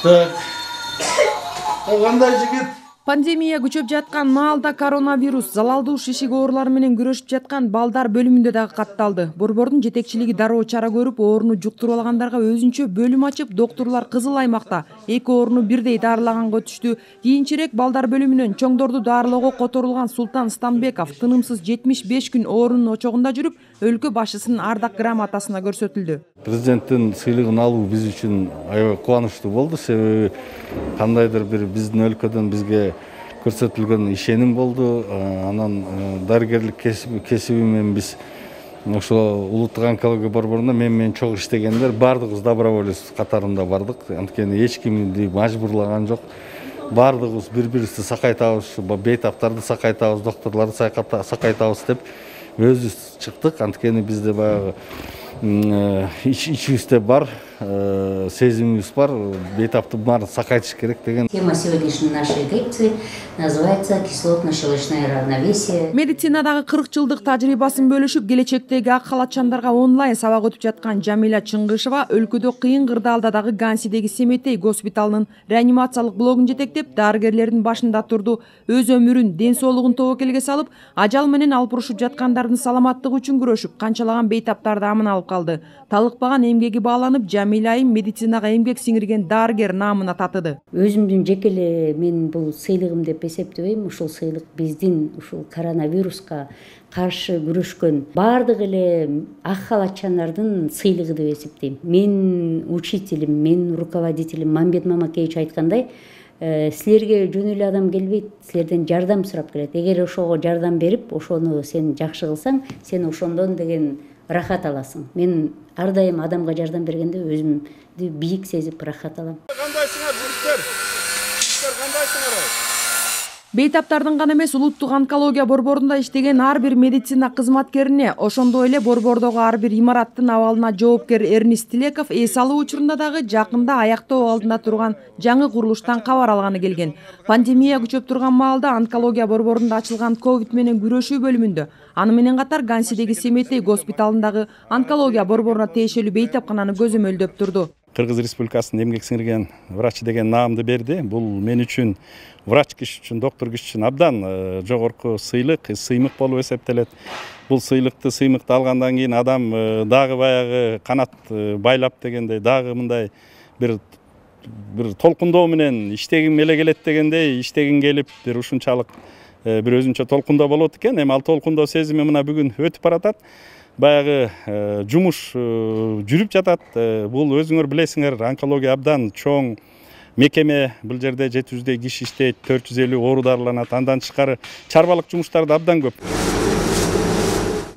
Так. Кандай жигит? Пандемия күчөп жаткан маалда коронавирус залалдуу шишик оорулары менен күрөшүп жаткан балдар бөлүмүндө дагы катталды. Борбордун жетекчилиги дароо чара көрүп, ооруну жуктуруп алгандарга өзүнчө бөлүм ачып, доктурлар кызыл аймакта эки ооруну бирдей дарылаганга өтүштү. Кийинчерээк балдар бөлүмүнөн чоңдорду дарылоого которулган Султан Станбеков тынымсыз 75 күн оорунун очогунда жүрүп, өлкө башчысынын ардак грамотасына көрсөтүлдү. Президенттин сыйлыгын алуу биз үчүн аябай кубанычтуу болду. Себеби кандайдыр бир биздин өлкөдөн бизге көрсөтүлгөн ишеним болду. Анан дарыгерлик кесиби менен биз ошол улуттук онкология борборунда менен чогуу иштегендер баардыгыбыз доброволец катарында бардык. Анткени эч кимди мажбурлаган жок. Баардыгыбыз бири-бирибизди сакайтабыз, бейтаптарды сакайтабыз, доктурларды сакайтабыз деп өзүбүз чыктык. Анткени бизде баягы ичибизде бар, сезимибиз бар, бейтаптын баарын сакайтыш керек деген. Тема сегодняшней нашей лекции называется кислотно-щелочное равновесие. Медицинадагы 40 жылдык тажрыйбасын бөлүшүп, келечектеги ак халатчандарга онлайн сабак өтүп жаткан Жамиля Чыңгышева өлкөдө кыйын кырдаалдагы Гансидеги Семетей госпиталынын реанимациялык блогун жетектеп, дарыгерлердин башында турду. Өз өмүрүн, ден соолугун тобокелге салып, ажал менен алпурушуп жаткандардын саламаттыгы үчүн күрөшүп, канчалаган бейтаптарды аман алып калды. Талыкпаган эмгеги бааланып, Жамиля айым медицинага эмгек сиңирген дарыгер наамына татыды. Өзүмдүн жеке эле мен бул сыйлыгым деп эсептебейм. Ушул сыйлык биздин ушул коронавируска каршы күрөшкөн баардык эле ак халатчандардын сыйлыгы деп эсептейм. Мен учителим, мен руководителим Мамбет Мамакеевич айткандай, силерге жөн эле адам келбейт, силерден жардам сурап келет. Эгер ошого жардам берип, ошону сен жакшы кылсаң, сен ошондон деген рахат аласың. Мен ар дайым адамга жардам бергенде өзүмдү бийик сезип рахат алам. Кандайсыңар жигиттер? Жигиттер кандайсыңар? Бейтаптардын гана эмес, улуттук онкология борборунда иштеген ар бир медицина кызматкерине, ошондой эле борбордогу ар бир имараттын абалына жоопкер Эрнист Тилеков эс алуу учурунда дагы жакында аяктоо алдында турган жаңы курулуштан кабар алганы келген. Пандемия күчөп турган маалда онкология борборунда ачылган ковид менен күрөшүү бөлүмүндө, аны менен катар Гансидеги Семетей госпиталындагы онкология борборуна тиешелүү бейтапкананы көзөмөлдөп турду. Кыргыз Республикасынын эмгек сиңирген врачы деген наамды берди. Бул мен үчүн, врач киши үчүн, доктор киши үчүн абдан жогорку сыйлык, сыймык болуп эсептелет. Бул сыймыкты алгандан кийин адам дагы баягы канат байлап дегендей, дагы мындай бир толкундоо менен иштегим эле келет дегендей, иштегим келип, бир ушунчалык бир өзүнчө толкундоо болот экен. Эми ал толкундоо сезими мына бүгүн өтүп баратат. Баягы жумуш жүрүп жатат. Бул өзүңөр билесиңер, онкология абдан чоң мекеме. Бул жерде 700 киши иштейт, 450 оору дарыланат. Андан тышкары чарбалык жумуштар да абдан көп.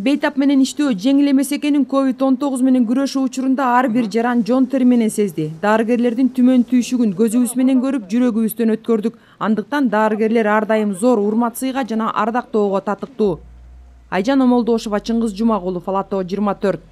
Бейтап менен иштөө жеңил эмес экенин COVID-19 менен күрөшүү учурунда ар бир жаран жон тери менен сезди. Дарыгерлердин түмөн түйшүгүн көзүбүз менен көрүп, жүрөгүбүздөн өткөрдүк. Андыктан дарыгерлер ар дайым зор урмат сыйга жана ардактоого татыктуу. Айжан Омолдошова, Чыңгыз Жумагулов, Ала Тоо 24.